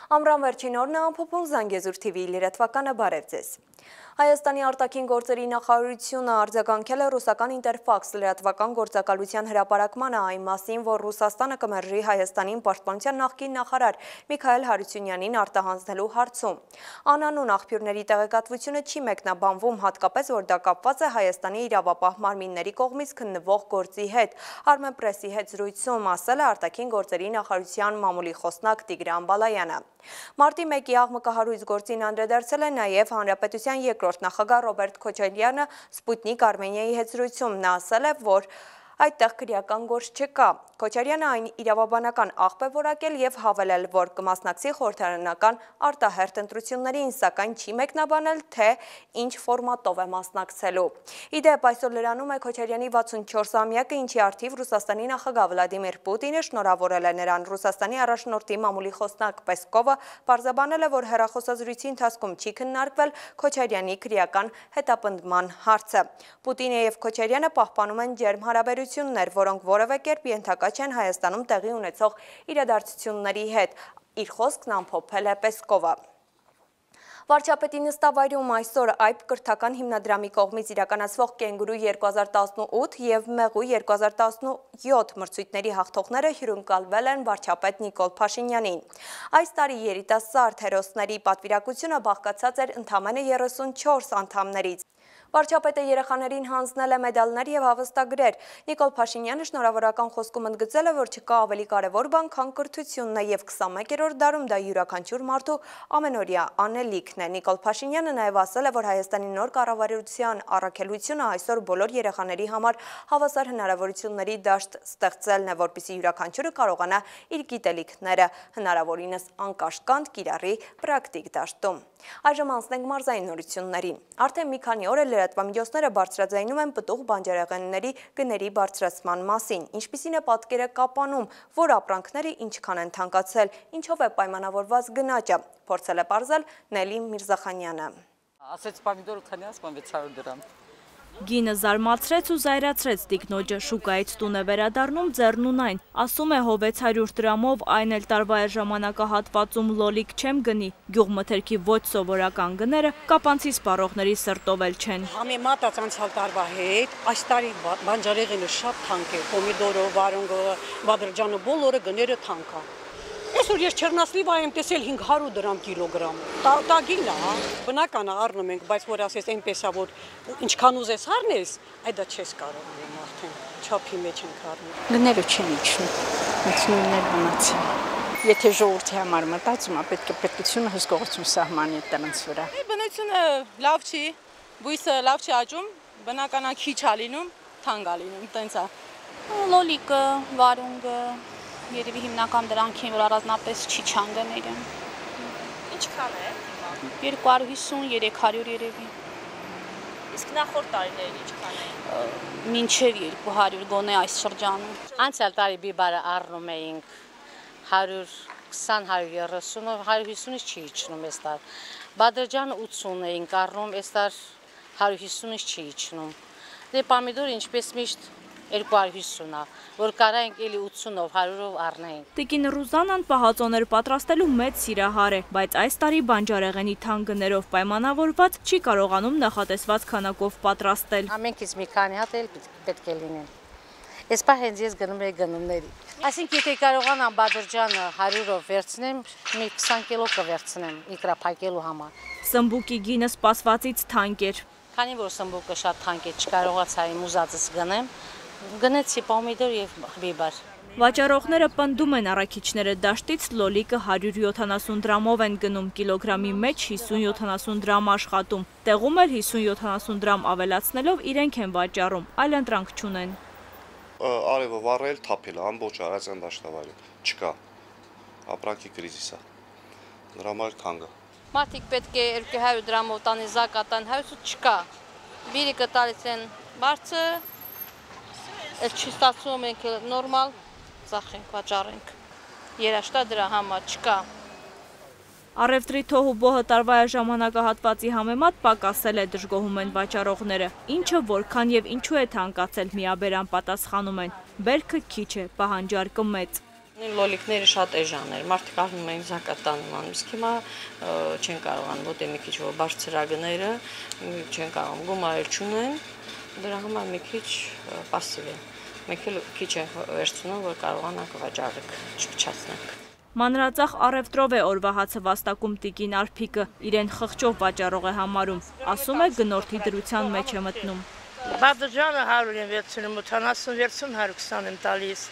Ամռան վերջին օրն է ամփոփում Զանգեզուր TV լրատվականը, բարև ձեզ։ Հայաստանի արտաքին գործերի նախարարությունը արձագանքել է ռուսական Ինտերֆաքս լրատվական գործակալության հրապարակմանը այն մասին, որ Ռուսաստանը կմերժի Հայաստանին պաշտպանության նախկին նախարար Միքայել Հարությունյանին արտահանձնելու հարցում։ Անանուն աղբյուրների տեղեկատվությունը չի մեկնաբանվում, հատկապես որ դա կապված է Հայաստանի իրավապահ մարմինների կողմից քննվող գործի հետ։ Armenpress-ի հետ զրույցում ասել է արտաքին գործերի նախարարության մամուլի խոսնակ Տիգրան Բալայանը։ Մարտի 1-ի աղմկահարույց գործին անդրադարձել է նաև Հանրապետության երկրորդ նախագահ Ռոբերտ Քոչարյանը Սպուտնիկ Արմենիայի հետ զրույցում։ Նա ասել է, որ այդտեղ քրեական գործ չկա։ Քոչարյանը այն իրավաբանական աղբ է որակել եւ հավելել, որ կմասնակցի խորհրդարանական արտահերթ ընտրություններին, սակայն չի մեկնաբանել, թե ինչ ֆորմատով է մասնակցելու։ Իդեպ այսօր լրանում է Քոչարյանի 64-ամյակը, ինչի առթիվ Ռուսաստանի նախագահ Վլադիմիր Պուտինը շնորհավորել է նրան։ Ռուսաստանի առաջնորդի մամուլի խոսնակ Պեսկովը պարզաբանել է, որ հեռախոսազրույցի ընթացքում չի քննարկվել Քոչարյանի քրեական հետապնդման հարցը։ Պուտինը եւ Քոչարյանը պահպանում են ջերմ հարաբերություններ, որոնք որևէ կերպ ենթակա չեն Հայաստանում տեղի ունեցող իրադարձությունների հետ, իր խոսքն ամփոփել է Պեսկովը։ Վարչապետի նստավայրում այսօր այբ կրթական հիմնադրամի կողմից իրականացվող Կենգուրու 2018 և Մեղու 2017 մրցույթների հաղթողները հյուրընկալվել են վարչապետ Նիկոլ Փաշինյանին։ Այս տարի երիտասարդ հերոսների պատվիրակությունը բաղկացած էր ընդամենը 34 անդամներից։ Վարչապետը երեխաներին հանձնել է մեդալներ և հավաստագրեր։ Նիկոլ Փաշինյանը շնորհավորական խոսքում ընդգծել է, որ չկա ավելի կարևոր բան, քան կրթությունն է և 21-րդ դարում դա յուրաքանչյուր մարդու ամենօրյա անելիքն է։ Նիկոլ Փաշինյանը նաև ասել է, որ Հայաստանի նոր կառավարության առաքելությունը այսօր բոլոր երեխաների համար հավասար հնարավորությունների դաշտ ստեղծելն է, որպեսզի յուրաքանչյուրը կարողանա իր գիտելիքները հնարավորինս անկաշկանդ կիրառի պրակտիկ դաշտում։ Այժմ անցնենք մարզային նորություններին։ Արդեն մի քանի օր է լրատվամիջոցները բարձրաձայնում են պտուղ բանջարեղենների գների բարձրացման մասին, ինչպիսին է պատկերը Կապանում, որ ապրանքները ինչքան են թանկացել, ինչով է պայմանավորված գնաճը, փորձել է պարզել Նելի Միրզախանյանը։ Ասեց պամիդորը քանի ասպան 600 դրամ։ Գինը զարմացրեց ու զայրացրեց տիկնոջը, շուկայից տուն է վերադառնում ձեռնուն այն, ասում է հո 600 դրամով այն էլ տարվա է ժամանակահատվածում լոլիկ չեմ գնի, գյուղմթերքի ոչ սովորական գները կապանցի սպառողների սրտով էլ չեն։ Համեմատած անցյալ տարվա հետ, այս տարի բանջարեղենը շատ թանկ է, պոմիդորը, վարունգը, բադրջանը բոլորը գները թանկ է։ Այսօր ես չեռնասլիվա եմ տեսել 500 դրամ կիլոգրամ։ Տագին է, բնական է առնում ենք, բայց որ ասես այնպես է, որ ինչքան ուզես առնես, այդ դա չես կարող արդեն, չափի մեջ ենք առնում։ Գները չեն իջնում, հենց նույնն էլ մնացին։ Եթե ժողովրդի համար մտածում է, պետք է պետությունը հսկողություն սահմանի դրանց վրա։ Բնությունը լավ չի, բույսը լավ չի աճում, բնականա քիչ է լինում, թանկ է լինում, տենց է։ Լոլիկը, վարունգը երևի հիմնական դրանքին, որ առանձնապես չի չանգները։ Ինչքան է? 250, 300 երևի։ Իսկ նախորդ տարիներին ինչքան է? Մինչև 200 գոնե այս շրջանում։ Անցյալ տարի բիբարը առնում էինք 120, 130, 150-ից չի իջնում այս տար։ Բադրջանը 80 էինք առնում, այս տար 150-ից չի իջնում։ Դե պամիդորը ինչպես միշտ 250 է, որ կարայինք էլի 80-ով, 100-ով առնեինք։ Տիկին Ռուզանան պահածոներ պատրաստելու մեծ սիրահար է, բայց այս տարի բանջարեղենի թանկ գներով պայմանավորված չի կարողանում նախատեսված քանակով պատրաստել։ Ամենքից մի քանի հատ էլ պետք է լինեն։ Ես պահ հենց ես գնում եի գնումների։ Այսինքն եթե կարողանամ Բադրջանը 100-ով վերցնեմ, մի 20 կիլո կվերցնեմ իկրա փակելու համար։ Սմբուկի գինը սպասվածից թանկ էր։ Քանի որ սմբուկը շատ թանկ է, չկարողացա իմ ուզածս գնեմ, գնեցի պոմիդոր եւ բիբար։ Վաճառողները պնդում են առաքիչները դաշտից լոլիկը 170 դրամով են գնում, կիլոգրամի մեջ 50-70 դրամ աշխատում։ Տեղում էլ 50-70 դրամ ավելացնելով իրենք են վաճառում, այլ ընտրանք չունեն։ Արևը վառել, թափել, ամբողջ Արարատյան դաշտավայրը չկա։ Ապրանքի կրիզիս է։ Դրա համար թանկ է։ Մարդիկ պետք է 200 դրամով տանի զակատան, հայուսը չկա։ Բիրիկը տալիս են բարձր, այդ չի ստացվում ենք նորմալ, ծախենք, վաճառենք։ Երաշտա դրա համար չկա։ Առևտրի թոհուբոհը տարվա ժամանակահատվածի համեմատ պակասել է, դժգոհում են վաճառողները, ինչը որքան եւ ինչու է թանկացել միաբերան պատասխանում են, բերքը քիչ է, պահանջարկը մեծ։ Լոլիկները շատ էժան էր, մարդիկ առնում էին զակատանում անում, իսկ հիմա չեն կարողանում, ոտ է մի քիչ բարձրագները, չեն կարողանում, գումարել չունեն, դրա համար մի քիչ պասիվ են, մեկ էլ քիչ են վերցնում, որ կարողանանք վաճառեք, չփչացնենք։ Մանրածախ առևտրով է օրվա հացը վաստակում տիկին Արփիկը, իրեն խղճով վաճառող է համարում, ասում է գնորդի դրության մեջ է մտնում։ Բադրջանը 100 եմ վերցնում, 80 վերցում 120 եմ տալիս,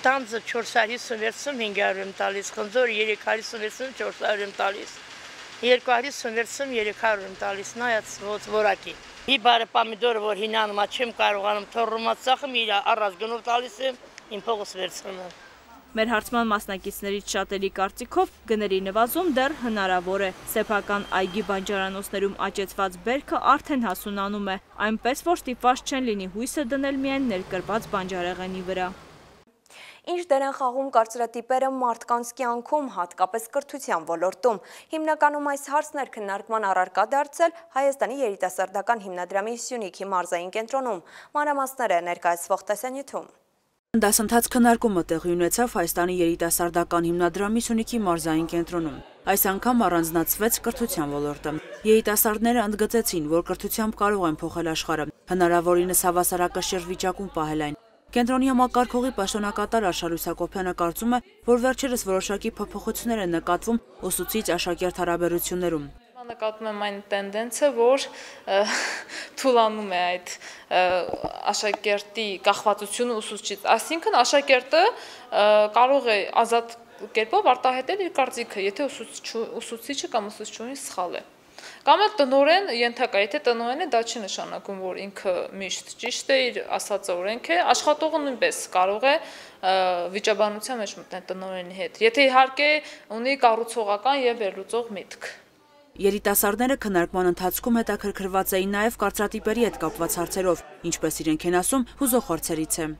տանձը 450 վերցում 500 եմ տալիս, խնձորը 350 վերցում 400 եմ տալիս, 250 վերցում 300 եմ տալիս, նայած որակի։ Մի բարը պամիդորը, որ հինանում չեմ կարողանում թորրումած ծախım իր առած գնով տալիս եմ, իմ փողս վերցնում եմ։ Մեր հարցման մասնակիցներից շատերի կարծիքով գների նվազում դեռ հնարավոր է։ Սեփական այգի բանջարանոցներում աճեցված բերքը արդեն հասունանում է, այնպես որ ստիպված չեն լինի հույսը դնել միայն ներկրված բանջարեղենի վրա։ Ինչ դեր են խաղում կարծրատիպերը մարդկանց կյանքում, հատկապես կրթության ոլորտում։ Հիմնականում այս հարցն էր քննարկման առարկա դարձել Հայաստանի երիտասարդական հիմնադրամի Սյունիքի մարզային կենտրոնում։ Մանրամասները ներկայացվող տեսանյութում։ Դասընթաց քննարկումը տեղի ունեցավ Հայաստանի երիտասարդական հիմնադրամի Սյունիքի մարզային կենտրոնում։ Այս անգամ առանձնացվեց կրթության ոլորտը։ Երիտասարդները ընդգծեցին, որ կրթությամբ կարող են փոխել աշխարհը, հնարավորինս հավասարակշիռ վիճակում պահել այն։ Կենտրոնի համակարգողի պաշտոնակատար Արշակ Լուսակոբյանը կարծում է, որ վերջերս որոշակի փոփոխություններ են նկատվում ուսուցիչ-աշակերտ հարաբերություններում։ Նկատում եմ այն տենդենսը, որ թուլանում է այդ աշակերտի կախվածությունը ուսուցչից, այսինքն աշակերտը կարող է ազատ կերպով արտահայտել իր կարծիքը, եթե ուսուցիչը կամ ուսուցչուհին սխալ է։ Կամ էլ տնօրեն ենթակա, եթե տնօրեն է, դա չի նշանակում, որ ինքը միշտ ճիշտ է, իր ասածը օրենք է, աշխատողը նույնպես կարող է վիճաբանության մեջ մտնել տնօրենի հետ, եթե իհարկե ունի կառուցողական եւ վերլուծող միտք։ Երիտասարդները քննարկման ընթացքում հետաքրքրված էին նաև կարծրատիպերի հետ կապված հարցերով, ինչպես իրենք են ասում, հուզող հարցերից է։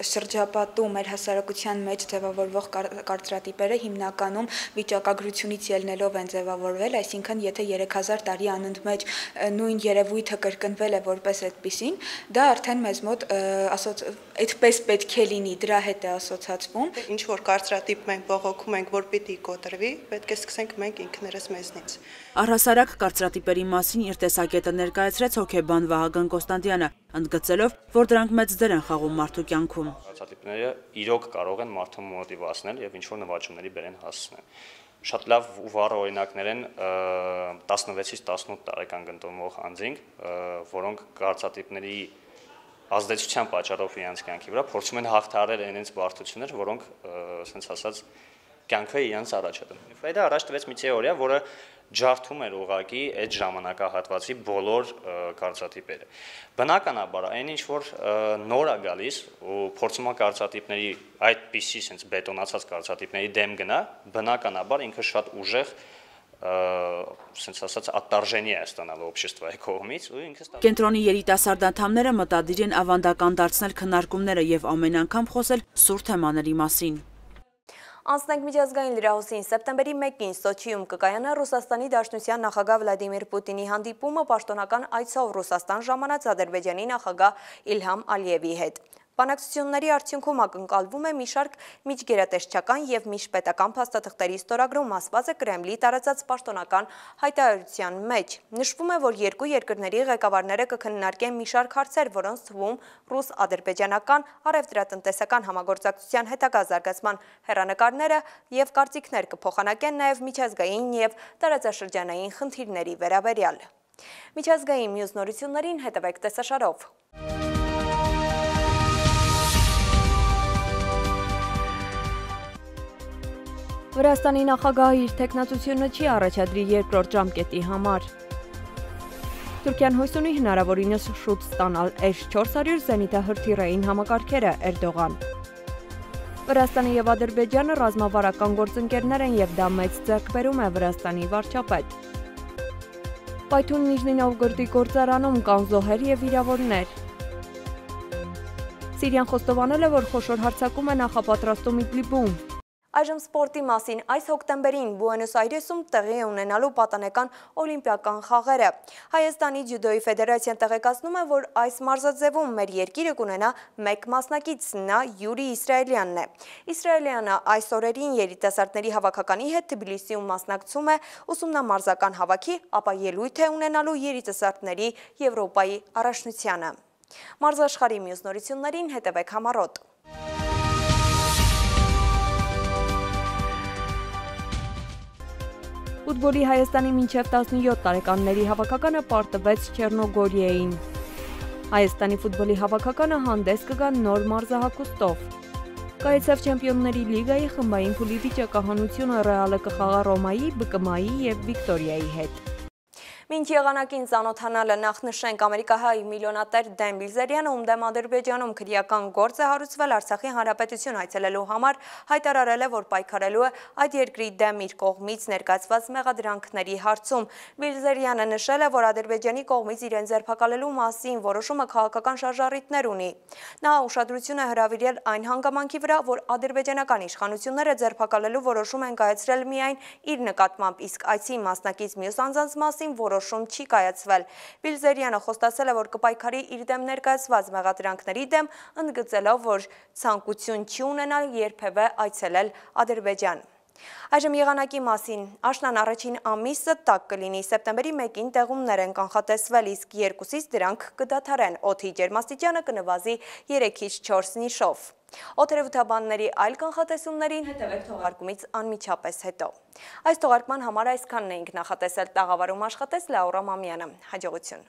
Շրջապատում մեր հասարակության մեջ ձևավորվող կարծրատիպերը հիմնականում վիճակագրությունից ելնելով են ձևավորվել, այսինքն եթե 3000 տարի անընդմեջ նույն երևույթը կրկնվել է որպես այդպիսին, դա արդեն մեզ մոտ այդպես պետք է լինի, դրա հետ է ասոցացվում։ Ինչ որ կարծրատիպ մենք բողոքում ենք, որ պիտի կոտրվի, պետք է սկսենք մենք ինքներս մեզնից։ Առհասարակ կարծրատիպերի մասին իր տեսակետը ներկայացրեց հոգեբան Վահագն Կոստանդյանը, ընդգծելով, որ դրանք մեծ դեր են խաղում մարդու կյանքում։ Կարծրատիպները իրոք կարող են մարդուն մոտիվացնել եւ ինչ-որ նվաճումների բերեն հասցնել։ Շատ լավ ու վառ օրինակներ են 16-ից 18 տարեկան գտնվող անձինք, որոնք կարծրատիպների ազդեցության պատճառով իրենց կյանքի վրա փորձում են հաղթահարել իրենց բարդություններ, որոնք, ասենց ասած, կյանքը իրենց առաջ է դնում։ Ֆրեյդը առաջ տվեց մի թեորիա, որը ջարդում էր ուղղակի այդ ժամանակահատվածի բոլոր կարծրատիպերը։ Բնականաբար այն ինչ որ նոր է գալիս ու փորձում է կարծրատիպների այդպիսի sense բետոնացած կարծրատիպների դեմ գնա, բնականաբար ինքը շատ ուժեղ sense ասած ատարժենի է ստանալու обществայի կողմից ու ինքը Կենտրոնի երիտասարդ անդամները մտադիր են ավանդական դարձնել քննարկումները եւ ամեն անգամ խոսել սուր թեմաների մասին։ Անցնենք միջազգային լրահոսին սեպտեմբերի 1-ին Սոչիում կկայանա Ռուսաստանի Դաշնության նախագահ Վլադիմիր Պուտինի հանդիպումը պաշտոնական այցով Ռուսաստան ժամանած Ադրբեջանի նախագահ Իլհամ Ալիևի հետ։ Բանակցությունների արդյունքում ակնկալվում է մի շարք միջգերատեսչական եւ միջպետական փաստաթղթերի ստորագրում, ասված է Կրեմլի տարածած պաշտոնական հայտարարության մեջ։ Նշվում է, որ երկու երկրների ղեկավարները կքննարկեն մի շարք հարցեր, որոնց թվում ռուս-ադրբեջանական առևտրատնտեսական համագործակցության հետագա զարգացման հեռանկարները եւ կարծիքներ կփոխանակեն նաեւ միջազգային եւ տարածաշրջանային խնդիրների վերաբերյալ։ Միջազգային մյուս նորություններին հետևեք տեսաշարով։ Վրաստանի նախագահը իր թեկնածությունը չի առաջադրի երկրորդ ժամկետի համար։ Թուրքիան հույս ունի հնարավորինս շուտ ստանալ S-400 զենիթահրթիռային համակարգերը Էրդողան։ Վրաստանը եւ Ադրբեջանը ռազմավարական գործընկերներ են եւ դա մեծ ձեռքբերում է Վրաստանի վարչապետ։ Պայթուն Նիժնի Նովգորդի գործարանում կան զոհեր եւ վիրավորներ։ Սիրիան խոստովանել է, որ խոշոր հարձակում է նախապատրաստում Իդլիբում։ Այժմ սպորտի մասին այս հոկտեմբերին Բուենոս Այրեսում տեղի է ունենալու պատանեկան օլիմպիական խաղերը։ Հայաստանի ջյուդոյի ֆեդերացիան տեղեկացնում է, որ այս մարզաձևում մեր երկիրը կունենա մեկ մասնակից, նա Յուրի Իսրայելյանն է։ Իսրայելյանը այս օրերին երիտասարդների հավաքականի հետ Թբիլիսիում մասնակցում է ուսումնամարզական հավաքի, ապա ելույթ է ունենալու երիտասարդների Եվրոպայի առաջնությանը։ Մարզաշխարհի մյուս նորություններին հետևեք համառոտ։ Ֆուտբոլի Հայաստանի մինչև 17 տարեկանների հավաքականը պարտվեց Չեռնոգորիային։ Հայաստանի ֆուտբոլի հավաքականը հանդես կգա նոր մարզահագուստով։ Կայացավ Չեմպիոնների լիգայի խմբային փուլի վիճակահանությունը Ռեալը կխաղա Ռոմայի, ԲԿՄ-ի և Վիկտորիայի հետ։ Մինչ եղանակին ծանոթանալը նախ նշենք ամերիկահայ միլիոնատեր Դեն Բիլզերյանը, ում դեմ Ադրբեջանում քրեական գործ է հարուցվել Արցախի հանրապետություն այցելելու համար, հայտարարել է, որ պայքարելու է այդ երկրի դեմ իր կողմից ներկայացված մեղադրանքների հարցում։ Բիլզերյանը նշել է, որ Ադրբեջանի կողմից իրեն ձերբակալելու մասին որոշումը քաղաքական շարժառիթներ ունի։ Նա ուշադրություն է հրավիրել այն հանգամանքի վրա, որ ադրբեջանական իշխանությունները ձերբակալելու որոշում են կայացրել միայն իր նկատմամբ, իսկ այցի մասնակից մյուս անձանց մասին որոշում չի կայացվել։ Բիլզերյանը խոստացել է, որ կպայքարի իր դեմ ներկայացված մեղադրանքների դեմ, ընդգծելով, որ ցանկություն չի ունենալ երբևէ այցելել Ադրբեջան։ Այժմ եղանակի մասին։ Աշնան առաջին ամիսը տաք կլինի, սեպտեմբերի 1-ին տեղումներ են կանխատեսվել, իսկ 2-ից դրանք կդադարեն, օդի ջերմաստիճանը կնվազի 3-ից 4 նիշով։ Օդերևութաբանների այլ կանխատեսումներին հետևեք թողարկումից անմիջապես հետո։ Այս թողարկման համար այսքանն էինք նախատեսել, տաղավարում աշխատեց Լաուրա Մամյանը։ Հաջողություն։